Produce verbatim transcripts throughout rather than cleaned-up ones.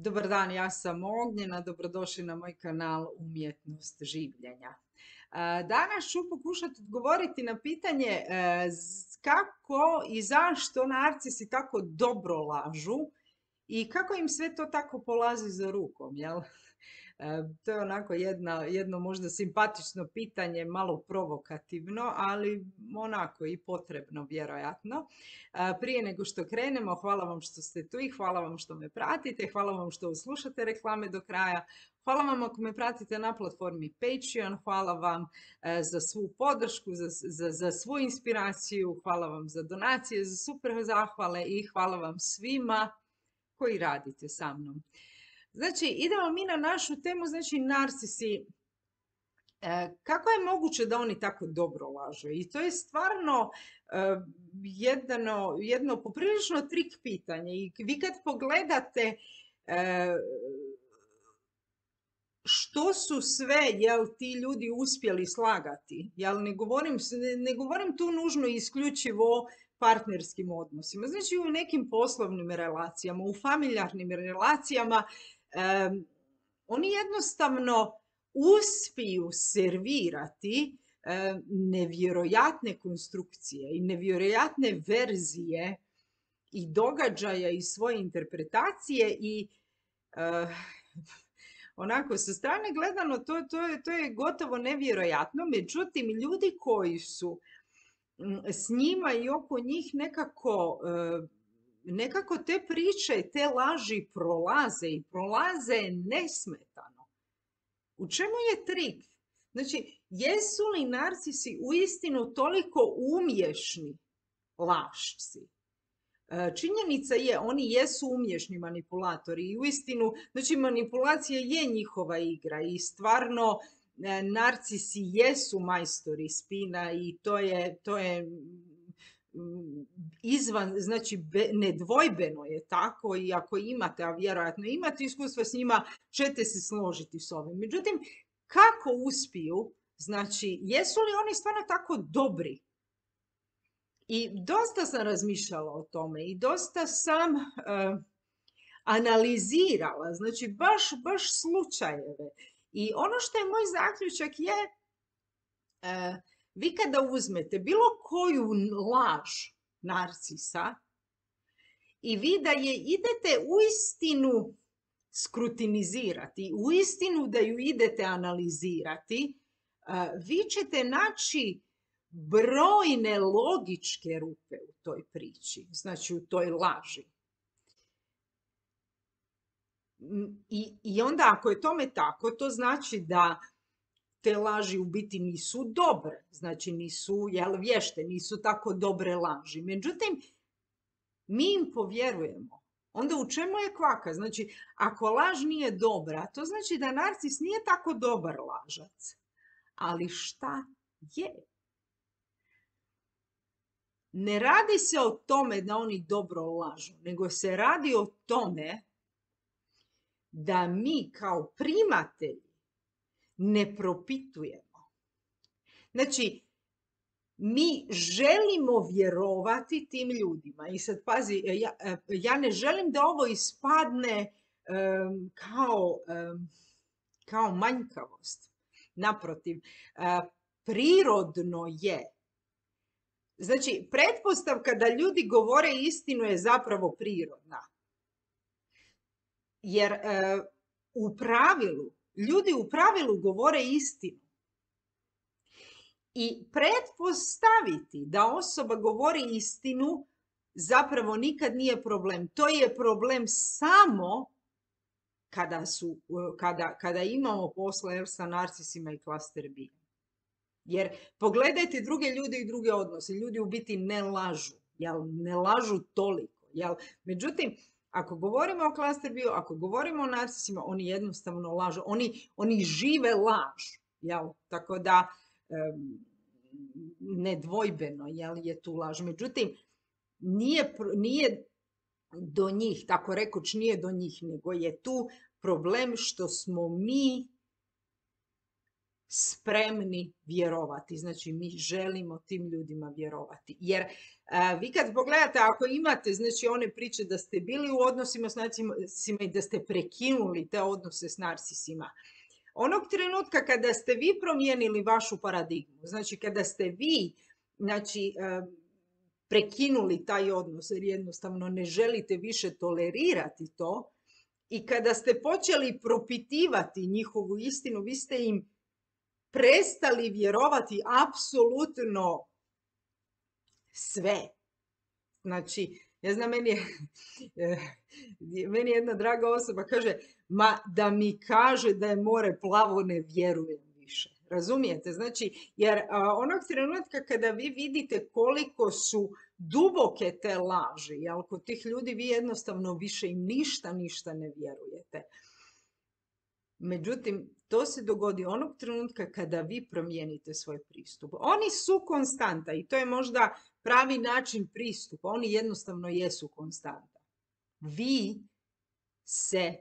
Dobar dan, ja sam Ognjena, dobrodošli na moj kanal Umjetnost življenja. Danas ću pokušati odgovoriti na pitanje kako i zašto narcisi tako dobro lažu i kako im sve to tako polazi za rukom, jel? To je onako jedna, jedno možda simpatično pitanje, malo provokativno, ali onako i potrebno vjerojatno. Prije nego što krenemo, hvala vam što ste tu i hvala vam što me pratite, hvala vam što slušate reklame do kraja. Hvala vam ako me pratite na platformi Patreon, hvala vam za svu podršku, za, za, za svu inspiraciju, hvala vam za donacije, za super zahvale i hvala vam svima koji radite sa mnom. Znači, idemo mi na našu temu, znači narcisi. E, kako je moguće da oni tako dobro lažu? I to je stvarno e, jedno, jedno poprilično trik pitanje. I vi kad pogledate e, što su sve, jel, ti ljudi uspjeli slagati, jel, ne govorim, ne, ne govorim tu nužno isključivo partnerskim odnosima, znači u nekim poslovnim relacijama, u familijarnim relacijama, um, oni jednostavno uspiju servirati um, nevjerojatne konstrukcije i nevjerojatne verzije i događaja i svoje interpretacije i uh, onako, sa strane gledano, to, to, je, to je gotovo nevjerojatno. Međutim, ljudi koji su s njima i oko njih nekako, nekako te priče, te laži prolaze i prolaze nesmetano. U čemu je trik? Znači, jesu li narcisi uistinu toliko umješni lašci? Činjenica je, oni jesu umješni manipulatori i uistinu, znači manipulacija je njihova igra i stvarno narcisi jesu majstori spina i to je, to je izvan, znači nedvojbeno je tako i ako imate, a vjerojatno imate iskustva s njima, ćete se složiti s ovim. Međutim, kako uspiju, znači jesu li oni stvarno tako dobri? I dosta sam razmišljala o tome i dosta sam uh, analizirala, znači baš, baš slučajeve. I ono što je moj zaključak je, uh, vi kada uzmete bilo koju laž narcisa i vi da je idete uistinu skrutinizirati, uistinu da ju idete analizirati, uh, vi ćete naći brojne logičke rupe u toj priči, znači u toj laži. I, i onda ako je tome tako, to znači da te laži u biti nisu dobre, znači nisu, jel, vješte, nisu tako dobre laži. Međutim, mi im povjerujemo. Onda u čemu je kvaka? Znači, ako laž nije dobra, to znači da narcis nije tako dobar lažac. Ali šta je? Ne radi se o tome da oni dobro lažu, nego se radi o tome da mi kao primatelji ne propitujemo. Znači, mi želimo vjerovati tim ljudima. I sad pazi, ja, ja ne želim da ovo ispadne um, kao, um, kao manjkavost. Naprotiv, uh, prirodno je. Znači, pretpostavka da ljudi govore istinu je zapravo prirodna. Jer e, u pravilu, ljudi u pravilu govore istinu. I pretpostaviti da osoba govori istinu zapravo nikad nije problem. To je problem samo kada, su, kada, kada imamo posla sa narcisima i klaster B. Jer pogledajte druge ljude i druge odnose. Ljudi u biti ne lažu. Jel? Ne lažu toliko. Jel? Međutim, ako govorimo o klaster B-u, ako govorimo o narcisima, oni jednostavno lažu. Oni, oni žive laž. Jel? Tako da um, nedvojbeno, jel, je tu laž. Međutim, nije, nije do njih, tako rekoć nije do njih, nego je tu problem što smo mi spremni vjerovati. Znači, mi želimo tim ljudima vjerovati. Jer a, vi kad pogledate, ako imate, znači, one priče da ste bili u odnosima s narcisima i da ste prekinuli te odnose s narcisima, onog trenutka kada ste vi promijenili vašu paradigmu, znači kada ste vi, znači, prekinuli taj odnos jer jednostavno ne želite više tolerirati to i kada ste počeli propitivati njihovu istinu, vi ste im prestali vjerovati apsolutno sve. Znači, ja znam, meni je, meni je jedna draga osoba kaže, ma da mi kaže da je more plavo, ne vjerujem više. Razumijete? Znači, jer a, onog trenutka kada vi vidite koliko su duboke te laži, jel, kod tih ljudi vi jednostavno više im ništa, ništa ne vjerujete. Međutim, to se dogodi onog trenutka kada vi promijenite svoj pristup. Oni su konstanta i to je možda pravi način pristupa. Oni jednostavno jesu konstanta. Vi se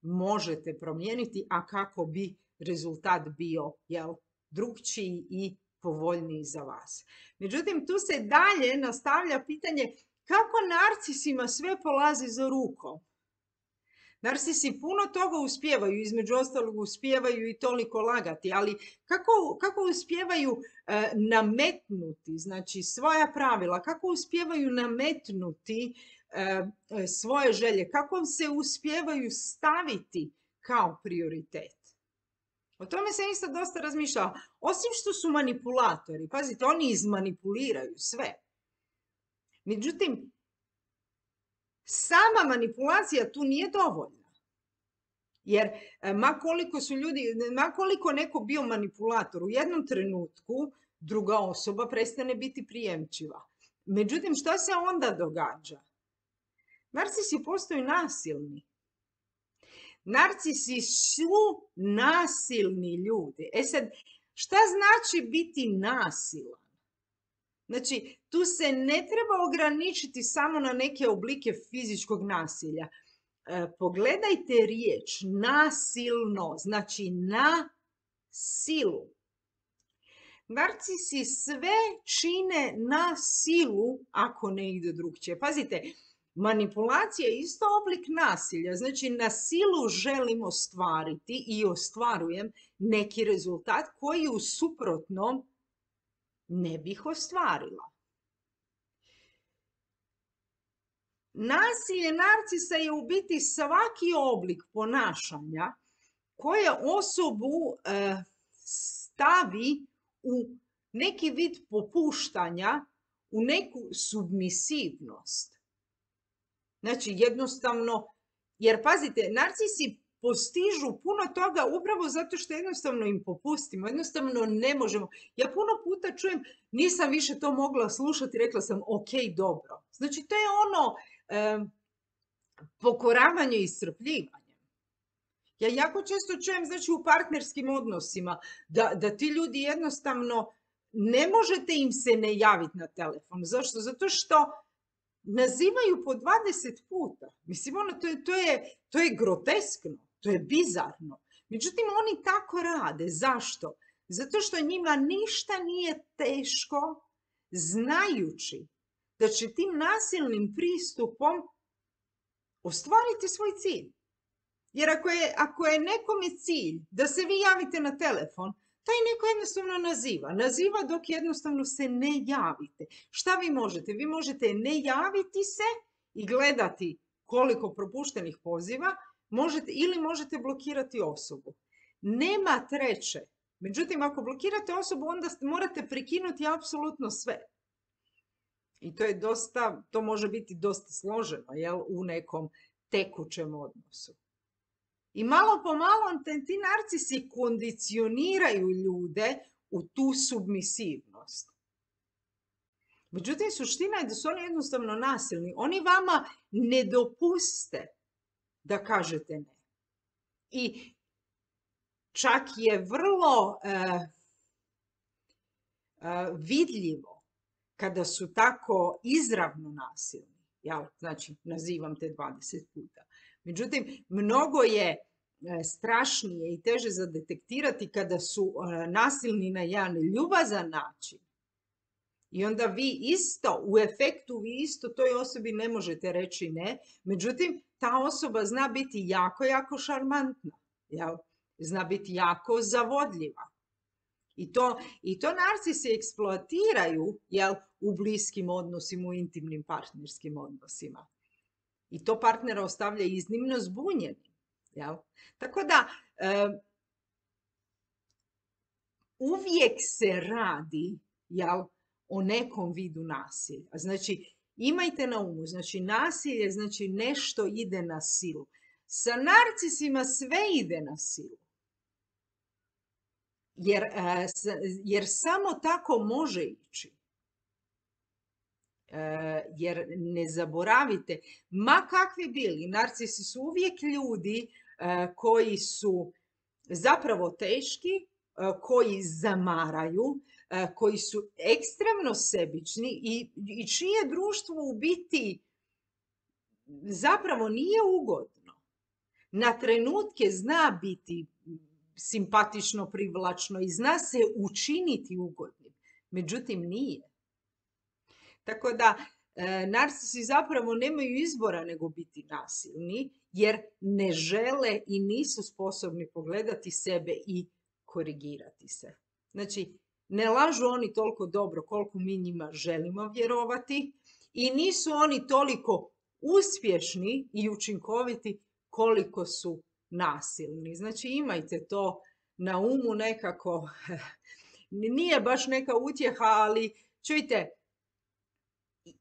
možete promijeniti, a kako bi rezultat bio, jel, drugčiji i povoljniji za vas. Međutim, tu se dalje nastavlja pitanje kako narcisima sve polazi za rukom. Narcisi puno toga uspijevaju, između ostalog uspijevaju i toliko lagati, ali kako, kako uspijevaju e, nametnuti, znači, svoja pravila, kako uspijevaju nametnuti e, svoje želje, kako se uspijevaju staviti kao prioritet. O tome se isto dosta razmišljala. Osim što su manipulatori, pazite, oni izmanipuliraju sve. Međutim, sama manipulacija tu nije dovoljna. Jer ma koliko su ljudi, ma koliko neko bio manipulator, u jednom trenutku druga osoba prestane biti prijemčiva. Međutim, šta se onda događa? Narcisi postaju nasilni. Narcisi su nasilni ljudi. E sad, šta znači biti nasilan? Znači, tu se ne treba ograničiti samo na neke oblike fizičkog nasilja. E, pogledajte riječ nasilno, znači na silu. Narcisi sve čine na silu ako ne ide drugčije. Pazite, manipulacija je isto oblik nasilja. Znači, na silu želim ostvariti i ostvarujem neki rezultat koji u suprotnom ne bih ostvarila. Nasilje narcisa je u biti svaki oblik ponašanja koje osobu e, stavi u neki vid popuštanja, u neku submisivnost. Znači, jednostavno, jer pazite, narcisi postižu puno toga upravo zato što jednostavno im popustimo, jednostavno ne možemo. Ja puno puta čujem, nisam više to mogla slušati, rekla sam, ok, dobro. Znači, to je ono e, pokoravanje i iscrpljivanje. Ja jako često čujem, znači, u partnerskim odnosima, da, da ti ljudi jednostavno ne možete im se ne javiti na telefon. Zašto? Zato što nazivaju po dvadeset puta. Mislim, ono, to je, to je, to je groteskno, to je bizarno. Međutim, oni tako rade. Zašto? Zato što njima ništa nije teško, znajući da će tim nasilnim pristupom ostvariti svoj cilj. Jer ako je, ako je nekome cilj da se vi javite na telefon, taj neko jednostavno naziva. Naziva dok jednostavno se ne javite. Šta vi možete? Vi možete ne javiti se i gledati koliko propuštenih poziva, možete, ili možete blokirati osobu. Nema treće. Međutim, ako blokirate osobu, onda morate prekinuti apsolutno sve. I to je dosta, to može biti dosta složeno, jel, u nekom tekućem odnosu. I malo po malo ti narcisi kondicioniraju ljude u tu submisivnost. Međutim, suština je da su oni jednostavno nasilni. Oni vama ne dopuste da kažete ne. I čak je vrlo uh, uh, vidljivo kada su tako izravno nasilni. Ja, znači, nazivam te dvadeset puta. Međutim, mnogo je strašnije i teže za detektirati kada su nasilni na jedan ljubazan način. I onda vi isto, u efektu vi isto toj osobi ne možete reći ne, međutim ta osoba zna biti jako, jako šarmantna, jel? Zna biti jako zavodljiva. I to, i to narcisi eksploatiraju, jel, u bliskim odnosima, u intimnim partnerskim odnosima. I to partnera ostavlja iznimno zbunjenim. Jel? Tako da, e, uvijek se radi, jel, o nekom vidu nasilja. Znači, imajte na umu, znači nasilje, znači nešto ide na silu. Sa narcisima sve ide na silu. Jer, e, jer samo tako može ići. E, jer ne zaboravite, ma kakvi bili, narcisi su uvijek ljudi e, koji su zapravo teški, e, koji zamaraju, e, koji su ekstremno sebični i, i čije društvo u biti zapravo nije ugodno. Na trenutke zna biti simpatično, privlačno i zna se učiniti ugodnim, međutim nije. Tako da e, narcisi zapravo nemaju izbora nego biti nasilni, jer ne žele i nisu sposobni pogledati sebe i korigirati se. Znači, ne lažu oni toliko dobro koliko mi njima želimo vjerovati i nisu oni toliko uspješni i učinkoviti koliko su nasilni. Znači, imajte to na umu nekako. Nije baš neka utjeha, ali čujte,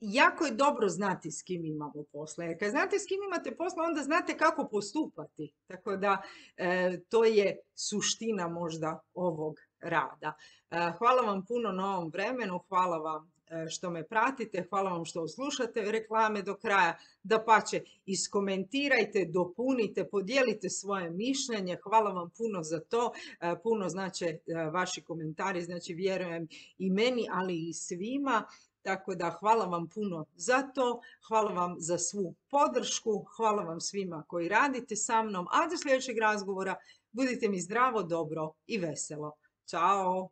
jako je dobro znati s kim imamo posla. Jer kad znate s kim imate posla, onda znate kako postupati. Tako da e, to je suština možda ovog rada. E, hvala vam puno na ovom vremenu, hvala vam e, što me pratite, hvala vam što slušate reklame do kraja. Dapače, iskomentirajte, dopunite, podijelite svoje mišljenje. Hvala vam puno za to. E, puno znače e, vaši komentari, znači vjerujem i meni, ali i svima. Tako da hvala vam puno za to, hvala vam za svu podršku, hvala vam svima koji radite sa mnom, a do sljedećeg razgovora budite mi zdravo, dobro i veselo. Ćao!